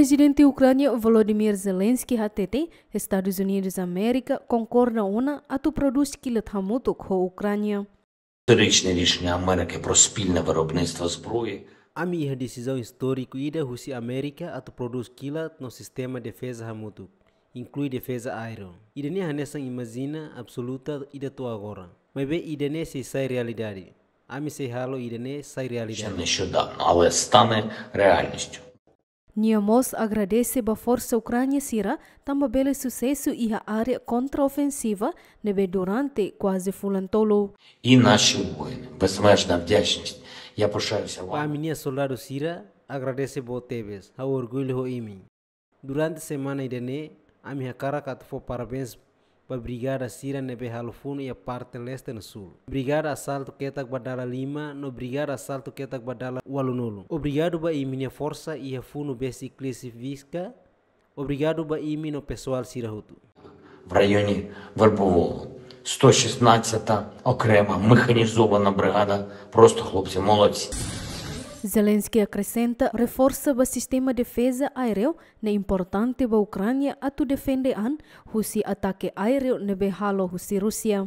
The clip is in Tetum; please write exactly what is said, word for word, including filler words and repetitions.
Prezidente Ukránia Volodymyr Zelensky hatete, Estadus Unidus Amérika konkorda ona atu prodús kilat hamutuk ho Ukránia. Історичне рішеня Америки про спільне виробництво зброї. Ami iha desizaun istóriku ida husi Amérika atu prodús kilat no sistema defeza hamutuk, inklui defeza aéreu. Ida-ne'e hanesan imajina absoluta ida to'o agora. Maibé ida-ne'e sei sai realidade. Ami sei halo ida-ne'e sai realidade. Нещодавно, але стане реальністю. Nia mós agradese ba forsa Ukránia sira tanba bele susesu iha área kontraofensiva ne'ebé durante kuaze fulan tolu. І наші воїни, безмежна вдячність. Я пишаюся Ba вами. ami-nia soldadu sira, agradese boot tebes, ha'u orgullu ho imi. Durante semana ida-ne'e, ami hakarak atu fó parabéns ba brigada sira ne'ebé halo funu iha parte leste no súl. Brigada asaltu ketak ba dala lima no brigada asaltu ketak ba dala ualunulu. Obrigadu ba imi-nia forsa iha funu besik Klisivica. Obrigadu ba imi no pesoál sira hotu. В районі Вербового. сто шістнадцята окрема механізована бригада. Просто хлопці молодці. Zelensky akresenta, reforsa ba sistema defeza aéreu ne'e importante ba Ukránia atu defende an husi atake aéreu ne'ebé halo husi Rúsia.